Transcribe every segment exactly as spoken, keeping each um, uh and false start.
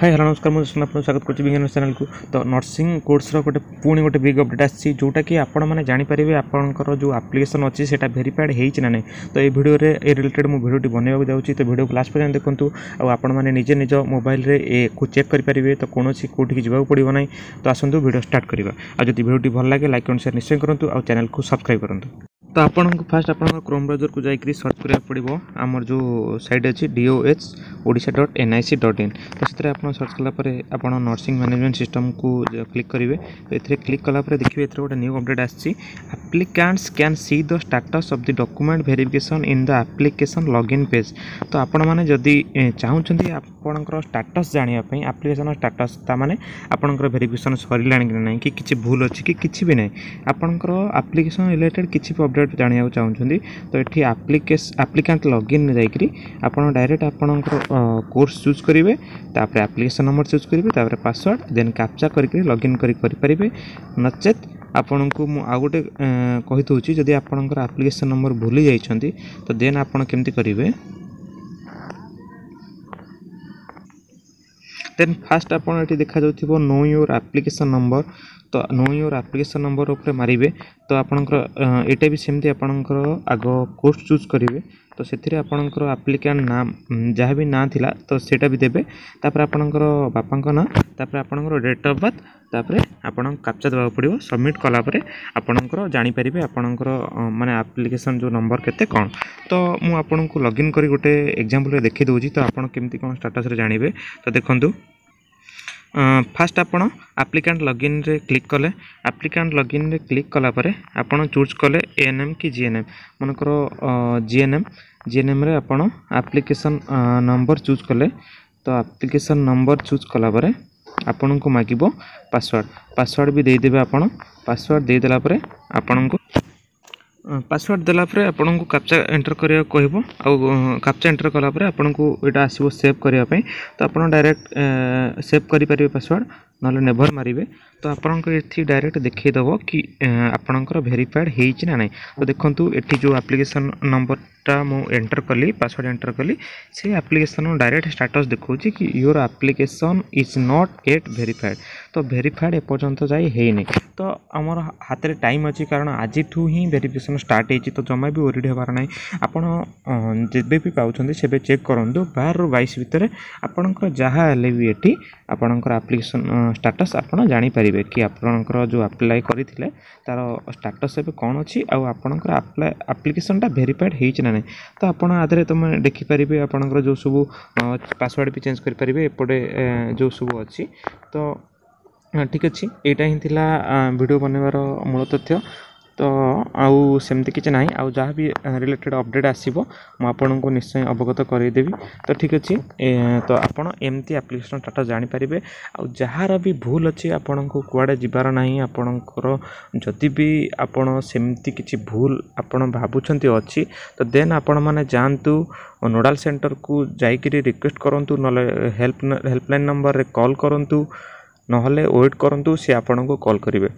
high hello ନମସ୍କାର ମୁଁ ସୁନା ଆପଣଙ୍କୁ ସ୍ୱାଗତ କରୁଛି ବିଜ୍ଞାନ ଚ୍ୟାନେଲକୁ ତ ନର୍ସିଂ କୋର୍ସର ଗୋଟେ ପୁଣି ଗୋଟେ ବିଗ୍ ଅପଡ଼େଟ୍ ଆସିଛି ଯେଉଁଟାକି ଆପଣମାନେ ଜାଣିପାରିବେ ଆପଣଙ୍କର ଯେଉଁ ଆପ୍ଲିକେସନ୍ ଅଛି ସେଇଟା ଭେରିଫାଏଡ଼୍ ହେଇଛି ନା ନାହିଁ ତ ଏଇ ଭିଡ଼ିଓରେ ଏ ରିଲେଟେଡ଼୍ ମୁଁ ଭିଡ଼ିଓଟି ବନେଇବାକୁ ଯାଉଛି ତ ଭିଡ଼ିଓକୁ ଲାଷ୍ଟ ପର୍ଯ୍ୟନ୍ତ ଦେଖନ୍ତୁ ଆଉ ଆପଣମାନେ ନିଜେ ନିଜ ମୋବାଇଲରେ ଏକୁ ଚେକ୍ କରିପାରିବେ ତ କୌଣସି କେଉଁଠିକି ଯିବାକୁ ପଡ଼ିବ ନାହିଁ ତ ଆସନ୍ତୁ ଭିଡ଼ିଓ ଷ୍ଟାର୍ଟ କରିବା ଆଉ ଯଦି ଭିଡ଼ିଓଟି ଭଲ ଲାଗେ ଲାଇକ୍ ଆଣ୍ଡ ସେୟାର ନିଶ୍ଚୟ କରନ୍ତୁ ଆଉ ଚ୍ୟାନେଲକୁ ସବସ୍କ୍ରାଇବ୍ କରନ୍ତୁ ତ ଆପଣଙ୍କୁ ଫାର୍ଷ୍ଟ ଆପଣଙ୍କ କ୍ରୋମ୍ ବ୍ରାଉଜରକୁ ଯାଇକରି ସର୍ଚ୍ଚ କରିବାକୁ ପଡ଼ିବ ଆମର ଯେଉଁ ସାଇଟ୍ ଅଛି D O H Odisha dot N I C dot in ତ ସେଥିରେ ଆପଣ ସର୍ଚ୍ଚ କଲା ପରେ ଆପଣ ନର୍ସିଂ ମ୍ୟାନେଜମେଣ୍ଟ ସିଷ୍ଟମକୁ କ୍ଲିକ୍ କରିବେ ତ ଏଥିରେ କ୍ଲିକ୍ କଲା ପରେ ଦେଖିବେ ଏଥିରେ ଗୋଟେ ନ୍ୟୁ ଅପଡ଼େଟ୍ ଆସିଛି applicants can see the status of the document verification in the application login page ତ ଆପଣମାନେ ଯଦି ଚାହୁଁଛନ୍ତି ଆପଣଙ୍କର ଷ୍ଟାଟସ୍ ଜାଣିବା ପାଇଁ ଆପ୍ଲିକେସନ୍ ଷ୍ଟାଟସ୍ ତାମାନେ ଆପଣଙ୍କର ଭେରିଫିକେସନ୍ ସରିଲାଣି କି ନାହିଁ କି କିଛି ଭୁଲ ଅଛି କି କିଛି ବି ନାହିଁ ଆପଣଙ୍କର ଆପ୍ଲିକେସନ୍ ରିଲେଟେଡ଼୍ କିଛି ବି ଅପଡ଼େଟ୍ ଜାଣିବାକୁ ଚାହୁଁଛନ୍ତି ତ ଏଠି ଆପ୍ଲିକେସ୍ ଆପ୍ଲିକାଣ୍ଟ ଲଗ୍ଇନ୍ ଯାଇକରି ଆପଣ ଡାଇରେକ୍ଟ ଆପଣଙ୍କର କୋର୍ସ ଚୁଜ୍ କରିବେ ତାପରେ ଆପ୍ଲିକେସନ୍ ନମ୍ବର ଚୁଜ୍ କରିବେ ତାପରେ ପାସୱାର୍ଡ଼ ଦେନ୍ କ୍ୟାପଚା କରିକି ଲଗ୍ଇନ୍ କରି କରିପାରିବେ ନଚେତ୍ ଆପଣଙ୍କୁ ମୁଁ ଆଉ ଗୋଟେ କହିଦେଉଛି ଯଦି ଆପଣଙ୍କର ଆପ୍ଲିକେସନ୍ ନମ୍ବର ଭୁଲି ଯାଇଛନ୍ତି ତ ଦେନ୍ ଆପଣ କେମିତି କରିବେ ଦେନ୍ ଫାର୍ଷ୍ଟ ଆପଣ ଏଠି ଦେଖାଯାଉଥିବ ନୋ your application number ତ ନୋ your application number ଉପରେ ମାରିବେ ତ ଆପଣଙ୍କର ଏଇଟା ବି ସେମିତି ଆପଣଙ୍କର ଆଗ କୋର୍ସ ଚୁଜ୍ କରିବେ ତ ସେଥିରେ ଆପଣଙ୍କର ଆପ୍ଲିକାଣ୍ଟ ନାଁ ଯାହା ବି ନାଁ ଥିଲା ତ ସେଇଟା ବି ଦେବେ ତାପରେ ଆପଣଙ୍କର ବାପାଙ୍କ ନାଁ ତାପରେ ଆପଣଙ୍କର ଡେଟ୍ ଅଫ୍ ବାର୍ଥ ତାପରେ ଆପଣଙ୍କୁ କ୍ୟାପଚା ଦେବାକୁ ପଡ଼ିବ ସବମିଟ୍ କଲା ପରେ ଆପଣଙ୍କର ଜାଣିପାରିବେ ଆପଣଙ୍କର ମାନେ ଆପ୍ଲିକେସନ୍ ଯେଉଁ ନମ୍ବର କେତେ କ'ଣ ତ ମୁଁ ଆପଣଙ୍କୁ ଲଗ୍ଇନ୍ କରି ଗୋଟେ ଏକ୍ଜାମ୍ପଲ୍ରେ ଦେଖାଇ ଦେଉଛି ତ ଆପଣ କେମିତି କ'ଣ ଷ୍ଟାଟସ୍ରେ ଜାଣିବେ ତ ଦେଖନ୍ତୁ ଫାର୍ଷ୍ଟ ଆପଣ ଆପ୍ଲିକାଣ୍ଟ ଲଗ୍ଇନ୍ରେ କ୍ଲିକ୍ କଲେ ଆପ୍ଲିକାଣ୍ଟ ଲଗ୍ଇନ୍ରେ କ୍ଲିକ୍ କଲା ପରେ ଆପଣ ଚୁଜ୍ କଲେ ଏ ଏନ୍ ଏମ୍ କି ଜି ଏନ୍ ଏମ୍ ମନେକର G N M G N ଏମ୍ରେ ଆପଣ ଆପ୍ଲିକେସନ୍ ନମ୍ବର ଚୁଜ୍ କଲେ ତ ଆପ୍ଲିକେସନ୍ ନମ୍ବର ଚୁଜ୍ କଲା ପରେ ଆପଣଙ୍କୁ ମାଗିବ ପାସୱାର୍ଡ଼ ପାସୱାର୍ଡ଼ ବି ଦେଇଦେବେ ଆପଣ ପାସୱାର୍ଡ଼ ଦେଇଦେଲା ପରେ ଆପଣଙ୍କୁ ପାସୱାର୍ଡ଼ ଦେଲା ପରେ ଆପଣଙ୍କୁ କ୍ୟାପଚା ଏଣ୍ଟର କରିବାକୁ କହିବ ଆଉ କ୍ୟାପଚା ଏଣ୍ଟର କଲା ପରେ ଆପଣଙ୍କୁ ଏଇଟା ଆସିବ ସେଭ୍ କରିବା ପାଇଁ ତ ଆପଣ ଡାଇରେକ୍ଟ ସେଭ୍ କରିପାରିବେ ପାସୱାର୍ଡ଼ ନହେଲେ ନେଭର୍ ମାରିବେ ତ ଆପଣଙ୍କ ଏଠି ଡାଇରେକ୍ଟ ଦେଖେଇଦେବ କି ଆପଣଙ୍କର ଭେରିଫାଏଡ଼୍ ହେଇଛି ନା ନାହିଁ ତ ଦେଖନ୍ତୁ ଏଠି ଯେଉଁ ଆପ୍ଲିକେସନ୍ ନମ୍ବରଟା ମୁଁ ଏଣ୍ଟର କଲି ପାସୱାର୍ଡ଼ ଏଣ୍ଟର କଲି ସେ ଆପ୍ଲିକେସନ୍ ଡାଇରେକ୍ଟ ଷ୍ଟାଟସ୍ ଦେଖାଉଛି କି your application is not yet verified ତ ଭେରିଫାଏଡ଼୍ ଏପର୍ଯ୍ୟନ୍ତ ଯାଇ ହେଇନି ତ ଆମର ହାତରେ ଟାଇମ୍ ଅଛି କାରଣ ଆଜିଠୁ ହିଁ ଭେରିଫିକେସନ୍ ଷ୍ଟାର୍ଟ ହେଇଛି ତ ଜମା ବି ୱରିଡ଼ ହେବାର ନାହିଁ ଆପଣ ଯେବେ ବି ପାଉଛନ୍ତି ସେବେ ଚେକ୍ କରନ୍ତୁ ବାରରୁ ବାଇଶ ଭିତରେ ଆପଣଙ୍କର ଯାହା ହେଲେ ବି ଏଠି ଆପଣଙ୍କର ଆପ୍ଲିକେସନ୍ ଷ୍ଟାଟସ୍ ଆପଣ ଜାଣିପାରିବେ କି ଆପଣଙ୍କର ଯେଉଁ ଆପ୍ଲାଏ କରିଥିଲେ ତା'ର ଷ୍ଟାଟସ୍ ଏବେ କ'ଣ ଅଛି ଆଉ ଆପଣଙ୍କର ଆପ୍ଲାଏ ଆପ୍ଲିକେସନ୍ଟା ଭେରିଫାଏଡ଼୍ ହେଇଛି ନା ନାହିଁ ତ ଆପଣ ଆ ଦେହରେ ତୁମେ ଦେଖିପାରିବେ ଆପଣଙ୍କର ଯେଉଁ ସବୁ ପାସୱାର୍ଡ଼ ବି ଚେଞ୍ଜ କରିପାରିବେ ଏପଟେ ଯେଉଁ ସବୁ ଅଛି ତ ଠିକ୍ ଅଛି ଏଇଟା ହିଁ ଥିଲା ଭିଡ଼ିଓ ବନେଇବାର ମୂଳ ତଥ୍ୟ ତ ଆଉ ସେମିତି କିଛି ନାହିଁ ଆଉ ଯାହା ବି ରିଲେଟେଡ଼୍ ଅପଡ଼େଟ୍ ଆସିବ ମୁଁ ଆପଣଙ୍କୁ ନିଶ୍ଚୟ ଅବଗତ କରାଇଦେବି ତ ଠିକ୍ ଅଛି ତ ଆପଣ ଏମିତି ଆପ୍ଲିକେସନ୍ ଷ୍ଟାଟସ୍ ଜାଣିପାରିବେ ଆଉ ଯାହାର ବି ଭୁଲ ଅଛି ଆପଣଙ୍କୁ କୁଆଡ଼େ ଯିବାର ନାହିଁ ଆପଣଙ୍କର ଯଦି ବି ଆପଣ ସେମିତି କିଛି ଭୁଲ ଆପଣ ଭାବୁଛନ୍ତି ଅଛି ତ ଦେନ୍ ଆପଣମାନେ ଯାଆନ୍ତୁ ନୋଡ଼ାଲ୍ ସେଣ୍ଟରକୁ ଯାଇକରି ରିକ୍ୱେଷ୍ଟ କରନ୍ତୁ ନହେଲେ ହେଲ୍ପ ହେଲ୍ପଲାଇନ୍ ନମ୍ବରରେ କଲ୍ କରନ୍ତୁ ନହେଲେ ୱେଟ୍ କରନ୍ତୁ ସେ ଆପଣଙ୍କୁ କଲ୍ କରିବେ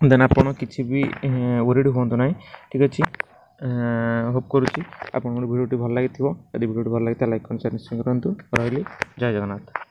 ଦେନ୍ ଆପଣ କିଛି ବି ୱରିଡ଼ ହୁଅନ୍ତୁ ନାହିଁ ଠିକ୍ ଅଛି ହୋପ୍ କରୁଛି ଆପଣଙ୍କର ଭିଡ଼ିଓଟି ଭଲ ଲାଗିଥିବ ଯଦି ଭିଡ଼ିଓଟି ଭଲ ଲାଗିଥାଏ ଲାଇକ୍ କମେଣ୍ଟ ସେୟାର ନିଶ୍ଚୟ କରନ୍ତୁ ରହିଲି ଜୟ ଜଗନ୍ନାଥ